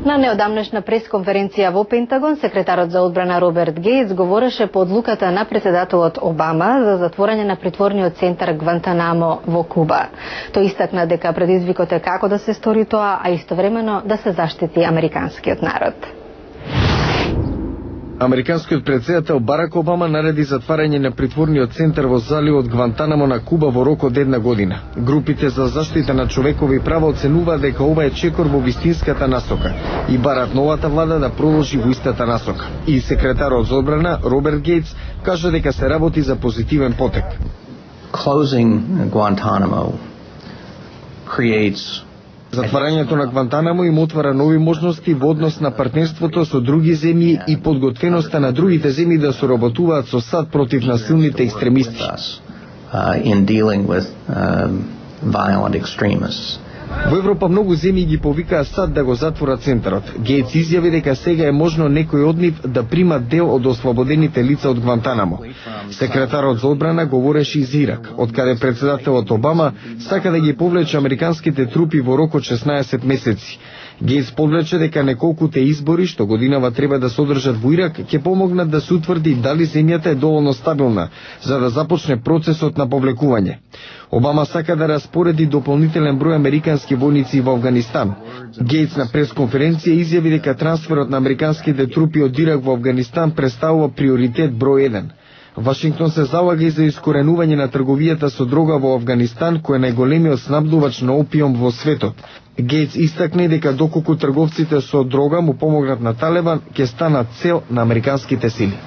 На неодамнешна пресконференција во Пентагон, секретарот за одбрана Роберт Гейтс говореше по одлуката на претседателот Обама за затворање на притворниот центар Гвантанамо во Куба. Тој истакна дека предизвикот е како да се стори тоа, а истовремено да се заштити американскиот народ. Американскиот претседател Барак Обама нареди затварање на притворниот центар во заливот Гвантанамо на Куба во рок од 1 година. Групите за заштита на човекови права оценуваат дека ова е чекор во вистинската насока и барат новата влада да продолжи во истата насока. И секретарот за одбрана Роберт Гейтс кажа дека се работи за позитивен потек. Closing Guantanamo creates Затварањето на Гвантанамо им отвара нови можности во однос на партнерството со други земји и подготвеноста на другите земји да соработуваат со САД против насилните екстремисти. In dealing with violent extremists. Во Европа многу земји ги повикаа САД да го затворат центарот. Гейтс изјави дека сега е можно некој од нив да примат дел од ослободените лица од Гвантанамо. Секретарот за одбрана говореше из Ирак, од каде претседателот Обама сака да ги повлече американските трупи во рок од 16 месеци. Гейтс подвлече дека неколкуте избори што годинава треба да се одржат во Ирак ќе помогнат да се утврди дали земјата е доволно стабилна за да започне процесот на повлекување. Обама сака да распореди дополнителен број американски војници во Авганистан. Гейтс на пресконференција изјави дека трансферот на американските трупи од Ирак во Авганистан представува приоритет број 1. Вашингтон се залага и за искоренување на трговијата со дрога во Авганистан, кој е најголемиот снабдувач на опиум во светот. Гейтс истакне дека доколку трговците со дрога му помогнат на Талибан, ќе станат цел на американските сили.